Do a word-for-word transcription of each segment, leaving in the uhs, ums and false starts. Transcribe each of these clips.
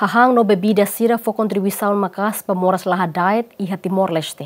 Hahán no bebida sira fó kontribuisaun maka'as ba moras la hada'et iha Timor-Leste.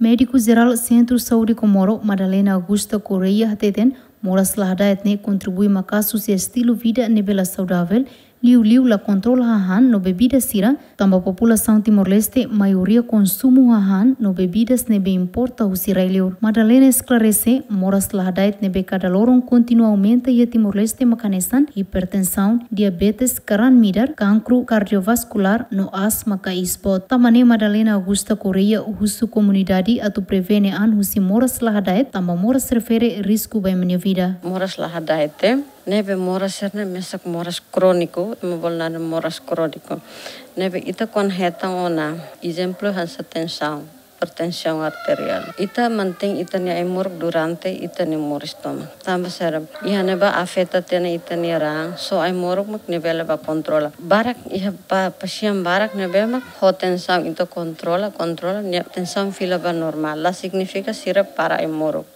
Médiku Jerál Sentru Saúde Comoro, Madalena Augusta Correia, hateten moras la hada'et ne'e kontribui maka'as husi estilu vida ne'ebé la saudavel, liuliu la kontrola hahán no bebida sira, tanba populasaun Timor-Leste maioria konsumu hahán no bebidas ne'ebé importa husi rai-liur. Madalena esklarese, moras la hada'et ne'ebé kada loron kontinua aumenta iha Timor-Leste mak hanesan hipertensaun, diabetes, karan-midar, kankru kardiovaskulár no asma ka isboot. Tanba ne'e Madalena Augusta Correia husu komunidade atu prevene an husi moras la hada'et, tanba moras refere risku ba ema nia vida. Moras la hada'et ne'e, ne'ebé moras sira-ne'e mesak moras króniku, ema bolu naran moras króniku. Ne'ebé ita kuandu hetan ona, ezemplu hanesan tensaun, hipertensaun arteriál. Ita mantein ita-nia ai-moruk durante ita-nia moris tomak. Tanba sira, iha ne'ebá afeta tiha ona ita-nia raan, só ai-moruk mak nia bele bá kontrola. Barak iha pa, pasiente barak ne'ebé mak ho tensaun ita kontrola, kontrola, nia tensaun fila ba normál. La signifika sira para ai-moruk.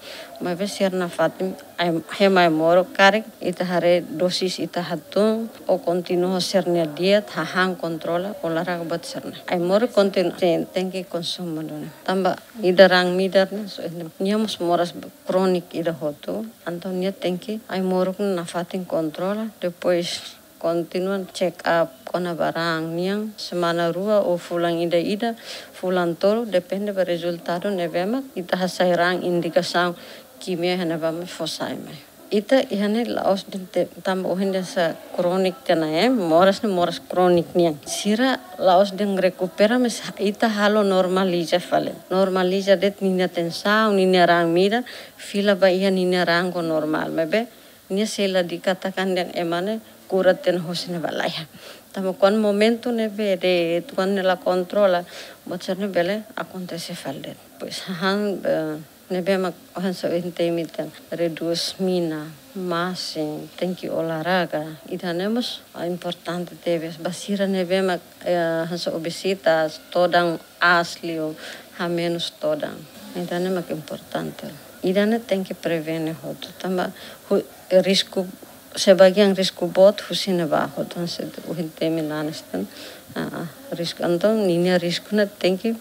Maibé sira nafatin, ai, hemu ai-moruk karik ita haree dósis ita hatún, ou kontinua sira-nia dieta, hahán kontrola, olahraga buat sira-ne'e. Ai-moruk kontinua, ten, tenke konsumu duni. Tanba ida raan-midar ne'e, so, nia mós moras króniku ida hotu, entaun nia tenke ai-moruk ne'e nafatin kontrola, depois kontinua check up kona-ba raan nian, semana rua ou fulan ida-ida, fulan tolu, depende ba rezultadu ne'ebé mak ita hasai raan indikasaun kimia iha ne'ebá mak fó sai mai. Ita iha ne'e la'ós de'it te-, tanba ohin dehan sá króniku tiha ona, eh, moras ne'e moras króniku nian. Sira la'ós dehan rekupera, mas ita halo normaliza fali. Normaliza de'it ninia tensaun, ninia raan-midar, fila ba iha ninia raan ho normál. Maibé nia sei la dikatakan dehan ema ne'e kura tiha ona hosi ne'ebá, lae. Tanba kuandu momentu ne'ebé de'it, kuandu nia la kontrola, buat sira-ne'e bele akontese fali de'it. Pois hahán, eh, ne'ebé mak hanesan ohin temi tiha ona, redús mina, masin, tenke olahraga, ida-ne'e mós, ah, importante tebes. Ba sira ne'ebé mak, eh, hanesan obesitas, todan aas liu, hamenus todan. Ida-ne'e mak importante. Ida-ne'e tenke prevene hotu. Tanba hu-, risku, sebagian risku boot husi ne'ebá hotu, hanesan ohin temi nanis tan. Ah, ah, risku. Entaun, ninia risku ne'e tenke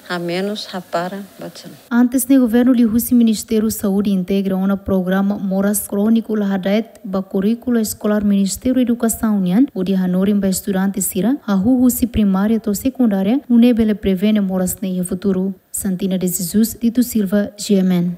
hamenus, hapara, buat sira-ne'e. Antes ne'e governu liuhusi Ministériu Saúde integra ona programa moras króniku la hada'et ba kurríkulu eskolár Ministériu Edukasaun nian, hodi hanorin ba estudante sira, hahú husi primária to'o sekundária, nune'e bele prevene moras ne'e iha futuru. Santina de Jesus, Tito Silva, G M N.